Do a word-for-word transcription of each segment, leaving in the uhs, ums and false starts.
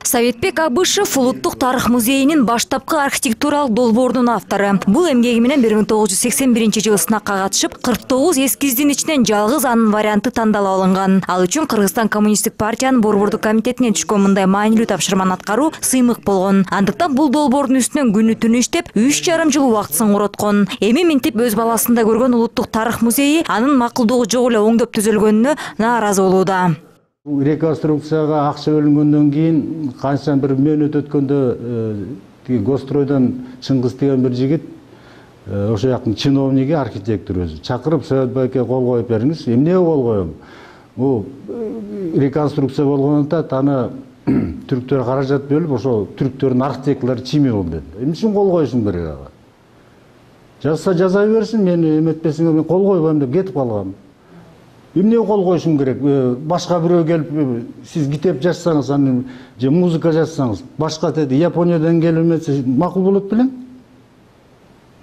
Советбек Абышев Улуттук тарых музейинин баштапкы архитектуралык долбоорунун автору. Бул эмгеги менен бир миң тогуз жүз сексен биринчи жылы сынакка катышып, кырк тогуз эскиздин ичинен жалгыз анын варианты тандалып алынган. Ал үчүн Кыргызстан коммунисттик партиянын борбордук комитетине түшкөн мындай маанилүү тапшырманы аткаруу сыймык болгон. Андыктан бул долбоордун үстүнөн күнү түнү иштеп, үч жарым жыл убактысын короткон. Эми минтип өз баласында көргөн Улуттук тарых музейи анын макулдугу жок эле оңдоп түзөлгөнүнө нааразы болууда. Реконструкцияга акча бөлүнгөндөн кийин канча бир мөөнөт өткөндө Гостройдон Чыңгыз деген бир жигит ошо жактын чиновниги, архитектор өзү чакырып, Совет байке кол коюп бериңиз. Эмнеге кол коем? Бул реконструкция болгондон аны түрктөр каражат бөлүп, ошо түрктөрдүн архитекторлору чими болду деди. Эмне үчүн кол коюшум керек ага? Жазса жаза берсин, мени эметпесиңер мен кол койбойм деп кетип калгам. Эмнеге кол коюшум керек? Башка бирөө келип, сиз китеп жазсаңыз, аны же музыка жазсаңыз, башка деди, Япониядан келип эмесе макул болот белең?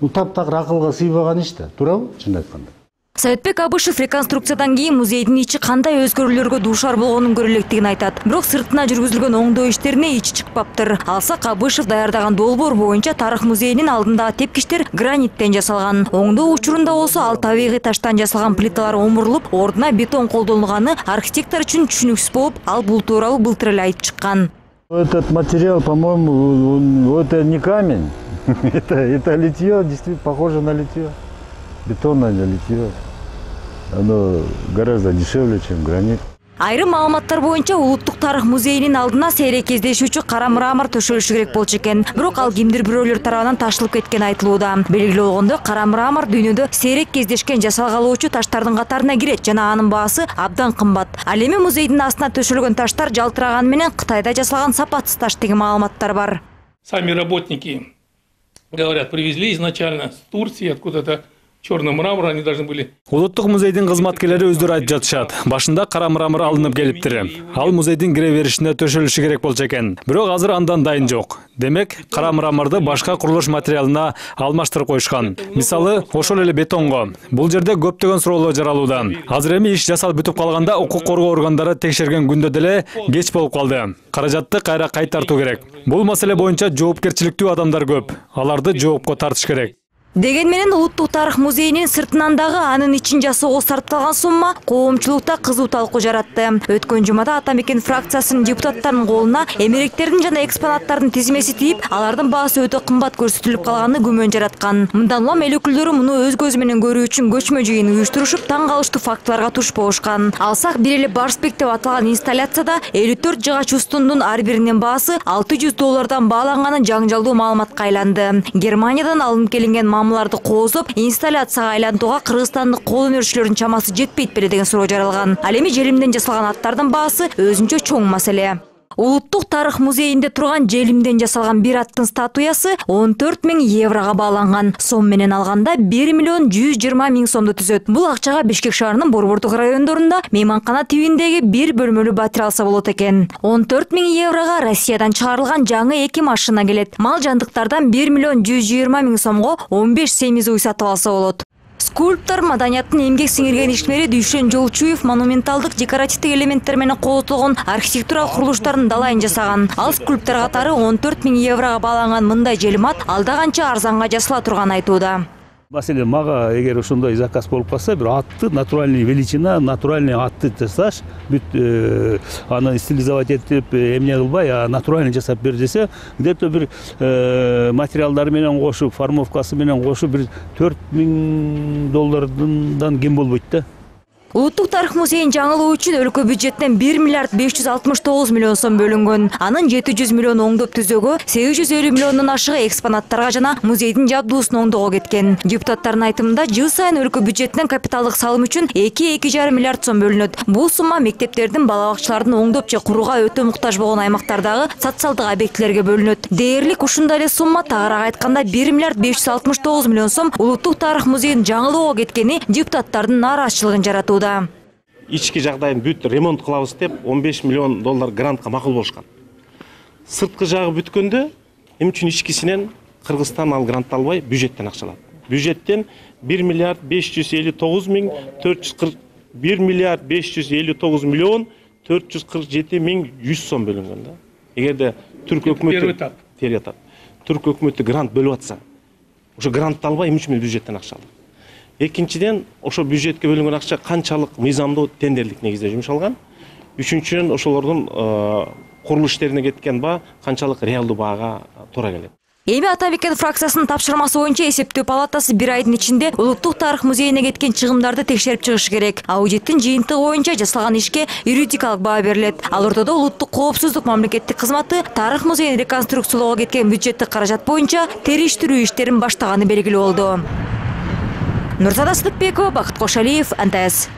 Бул таптакыр акылга сыйбаган иш да, туурабы? Чын айтканда. Советбек Абышев реконструкциядан кийин музейдин ичи кандай өзгөрүүлөргө дуушар болгонун көрө электигин айтат. Бирок сыртына жүргүзүлгөн оңдоо иштерине ичи чыкпаптыр. Алсак Абышев даярдаган долбоор боюнча тарых музейинин алдындагы тепкичтер граниттен жасалган. Оңдоо учурунда болсо ал табигый таштан жасалган плиталар омурулуп, ордуна бетон колдонулганы архитектор үчүн түшүнүксүз болуп, ал бул тууралуу былтыр эле айтып чыккан. Этот материал, по-моему, это не камень. это, это литье, действительно похоже на литье. Бетонное литье. Оно гораздо дешевле, чем гранит. Айрым маалыматтар боюнча Улуттук тарых музейинин алдына сейрек кездешүүчү кара мрамор төшөлүшү керек болчу экен. Бирок ал кимдир бирөөлөр тарабынан ташылып кеткен айтылууда. Белгилүү болгондой, кара мрамор дүйнөдө сейрек кездешкен жасалгалоочу таштардын катарына кирет жана анын баасы абдан кымбат. Ал эми музейдин астына төшөлгөн таштар жалтыраган менен Кытайда жасалган сапатсыз таш деген маалыматтар бар. Сами работники говорят, привезли изначально с Турции, откуда-то черный мрамор, они должны были. Улуттук музейдин кызматкерлери өздөрү айтып жатышат. Башында кара мрамор алынып келиптир. Ал музейдин кире беришинде төшөлүшү керек болчу экен. Бирок азыр андан дайын жок. Демек, кара мраморду башка курулуш материалына алмаштырып коюшкан. Мисалы, ошол эле бетонго. Бул жерде көптөгөн суроолор жаралууда. Азыр эми иш жасалып бүтүп калганда укук коргоо органдары текшерген күндө деле кеч болуп калды. Каражатты кайра кайтартуу керек. Бул маселе боюнча жоопкерчиликтүү адамдар көп. Аларды жоопко тартыш керек. Деген менен Улуттук тарых музейинин сыртынан дагы анын ичин жасоого сарпталган сумма коомчулукта кызуу талкуу жаратты. Өткөн жумада Ата Мекен фракциясынын депутаттарынын колуна эмеректердин жана экспонаттардын тизмеси тийип, алардын баасы өтө кымбат көрсөтүлүп калганы күмөн жараткан. Мындан улам эл өкүлдөрү муну өз көзү менен көрүү үчүн көчмө жыйын уюштурушуп, таң калыштуу фактыларга туш болушкан. Алсак бир эле Барспек деп аталган инсталляцияда элүү төрт жыгач устундун ар биринин баасы алты жүз доллардан бааланганы жаңжалдуу маалыматка айланды. Германиядан алынып келинген мамларды коозоп, инсталляцияга айлантууга кыргызстандык кол өнөрчүлөрдүн чамасы жетпейт беле деген суроо жаралган. Ал эми желимден жасалган аттардын баасы өзүнчө чоң маселе. Улуттук тарых музейинде турган желимден жасалган бир аттын статуясы он төрт миң еврого бааланган. Сом менен алганда бир миллион жүз жыйырма миң сомду түзөт. Бул акчага Бишкек шаарынын борбордук райондорунда мейманкана тибиндеги бир бөлмөлүү батир алса болот экен. он төрт миң еврого Россиядан чыгарылган жаңы эки машина келет. Мал жандыктардан бир миллион жүз жыйырма миң сомго он беш семиз уй сатып алса болот. Скульптор маданияттын эмгек сиңирген ишмери Дүйшен Жолчуев монументалдык декоративдик элементтер менен колотулган архитектуралык курулуштардын далайын жасаган. Ал скульптор катары он төрт миң еврого бааланган мындай желимат алда канча арзанга жасала турганын айтууда. Маселен, мага эгер ошондой заказ болуп калса, бир атты натуральный величина, натуральный атты жасаш, бүт аны стилизовать этип, эмне кылбай, а натуральный жасап бер десе, где-то бир материалдары менен кошуп, формовкасы менен кошуп бир төрт миң доллардан кем болбойт да. Улуттук тарых музейин жаңылоо үчүн өлкө бюджеттен бир миллиард беш жүз алтымыш тогуз миллион сом бөлүнгөн. Анын жети жүз миллион оңдоп түзөөгө, сегиз жүз элүү миллиондон ашыгы экспонаттарга жана музейдин жабдуусун оңдоого кеткен. Депутаттардын айтымында жыл сайын өлкө бюджетинен капиталдык салым үчүн эки эки жарым миллиард сом бөлүнөт. Бул сумма мектептердин, бала бакчалардын оңдоп же курууга өтө муктаж болгон аймактардагы социалдык объектилерге бөлүнөт. Дээрлик ушундай эле сумма, тагыраак айтканда бир миллиард беш жүз алтымыш тогуз миллион сом Улуттук тарых музейин жаңылоого кеткени депутаттардын нааразычылыгын жаратууда. Ички жагдайын бүт ремонт кылабыз деп он беш миллион доллар грантка макул болушкан. Сырткы жагы бүткөндө эмне үчүн ичкисинен Кыргызстан ал грантты албай бюджеттен акча алат. Бюджеттен бир миллиард беш жүз элүү тогуз миң төрт жүз кырк бир миллиард беш жүз элүү тогуз миллион төрт жүз кырк жети миң жүз сом бөлүнгөн да. Эгерде түрк өкмөтү Первый этап. Первый этап. Түрк өкмөтү грант бөлүп атса, ошо грантты албай эми үч миң бюджеттен акча алат. Экинчиден, ошо бюджетке бөлүнгөн акча канчалык мыйзамдуу тендерлик негизде жумшалган. Үчүнчүдөн, ошолордун курулуш иштерине кеткен баа канчалык реалдуу баага туура келет. Эми Атамекен фракциясынын тапшырмасы боюнча эсептөө палатасы бир айдын ичинде Улуттук тарых музейине кеткен чыгымдарды текшерип чыгышы керек. А бюджеттин жыйынтыгы боюнча жасалган ишке юридикалык баа берилет. Ал ортодо Улуттук коопсуздук мамлекеттик кызматы тарых музейин реконструкциялоого кеткен бюджеттик каражат боюнча териштирүү иштерин баштаганы белгилүү болду. Нурсада Сыдыкбекова, Бакыт Кошалиев, эн тэ эс.